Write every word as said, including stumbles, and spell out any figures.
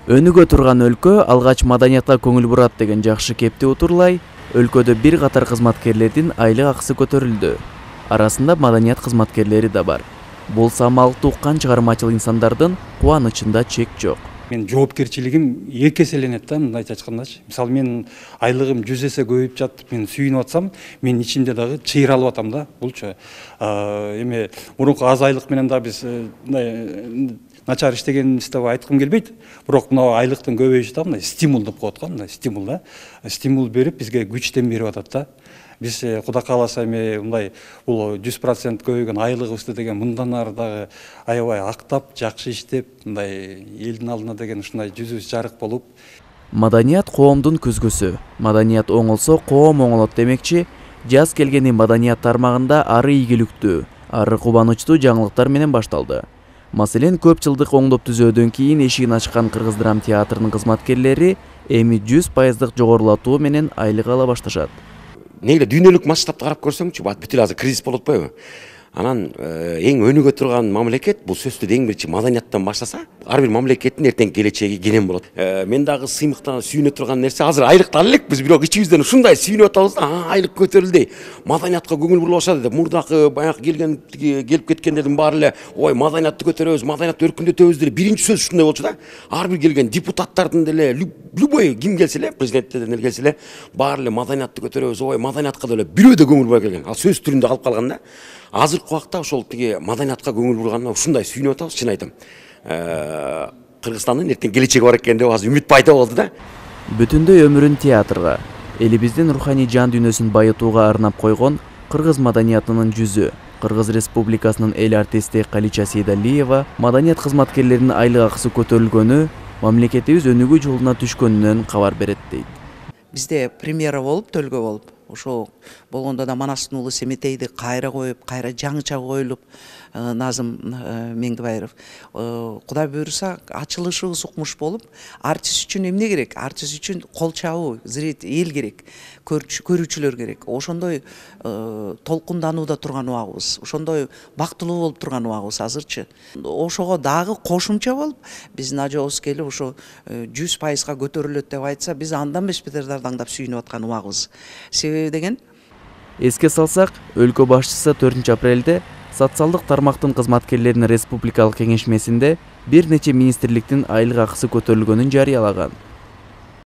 Өнүгө турган өлкө алгач маданиятка көңүл бурат деген жакшы кепти утурлай, өлкөдө бир катар кызматкерлердин айлык акысы көтөрүлдү. Арасында маданият кызматкерлери да бар. Бул самалыкты уккан чыгармачыл инсандардын кубанычында чек жок. Мен жоопкерчилигим эки эселенет да, мындайча айткандачы. Мисалы мен айлыгым жүз эсе көбөйүп жатып, мен сүйүнүп атсам, мен ичимде дагы чыйралып атам да. Булчу эме мурунку аз айлык менен да биз мындай начар иштегенибизди айткым келбейт. Бирок мына айлыктын көбөйүшү да мындай стимул деп коет го, мындай стимул да. Стимул берип бизге күчтен берип атат да. Биз Кудай кааласа эми мындай бул жүз процент көбөйгөн айлыгыбызды деген мындан ары дагы аябай актап, жакшы иштеп, мындай элдин алдына деген ушундай жүзүбүз жарык болуп. Маданият коомдун көзгөсү. Маданият оңолсо коом оңолот демекчи, жаз келгени маданият тармагында ары ийгиликтүү, ары кубанычтуу жаңылыктар менен башталды. Маселен, көп жылдык оңдоп түзөөдөн кийин эшигин ачкан Кыргыз драм театрынын кызматкерлери эми жүз пайыздык жогорулатуу менен айлык ала башташат. Негде дүйнөлүк масштабты карап көрсөңчү, бүт эле азыр кризис болуп атпайбы? Анан эң өнүгө турган мамлекет бул сөзсүз эң биринчи маданияттан баштаса, ар бир мамлекеттин эртең келечеги кенен болот. Мен дагы сыймыктан сүйүнө турган нерсе азыр айлыкты ала элекпиз, бирок ичибизден ушундай сүйүнүп атабыз да, айлык көтөрүлдү. Маданиятка көңүл бурула баштады деп, мурдакы баягы келген келип кеткендердин баары эле ой маданиятты көтөрөбүз, маданиятты өркүндөтөбүз деп биринчи сөз ушундай болчу да. Ар бир келген депутаттардын деле любой ким келсе эле, президенттерден эле келсе эле, баары эле маданиятты көтөрөбүз, ой маданиятка деле бирөө да көңүл бурбай келген. Ал сөз түрүндө калып калган да. Азыркы убакта ошол тиги маданиятка көңүл бурганына ушундай сүйүнүп атабыз, чын айтам. Кыргызстандын эртең келечеги бар экен деп азыр үмүт пайда болду да. Бүтүндөй өмүрүн театрга, элибиздин руханий жан дүйнөсүн байытууга арнап койгон кыргыз маданиятынын жүзү, Кыргыз Республикасынын эл артисти Калича Сейдалиева маданият кызматкерлеринин айлык акысы көтөрүлгөнү, мамлекетибиз өнүгүү жолуна түшкөнүнөн кабар берет дейт. Бизде премьера болуп, төлгө болуп, ошо болгондо да Манастын уулу Семетейди кайра коюп, кайра жаңыча коюлуп, Назым Меңдибаев, Кудай буйруса ачылышыбыз укмуш болуп, артист үчүн эмне керек? Артист үчүн кол чабуу, зритель, эл керек, көрүүчүлөр керек. Ошондой толкунданууда турган убагыбыз, ошондой бактылуу болуп турган убагыбыз азырчы. Ошого дагы кошумча болуп, биздин ажообуз келип ошо жүз пайызга көтөрүлөт деп айтса, биз андан эмес бетер дардаңдап сүйүнүп аткан убагыбыз. Себеби деген? Эске салсак, өлкө башчысы төртүнчү апрелде социалдык тармактын кызматкерлеринин республикалык кеңешмесинде бир нече министрликтин айлык акысы көтөрүлгөнүн жарыялаган.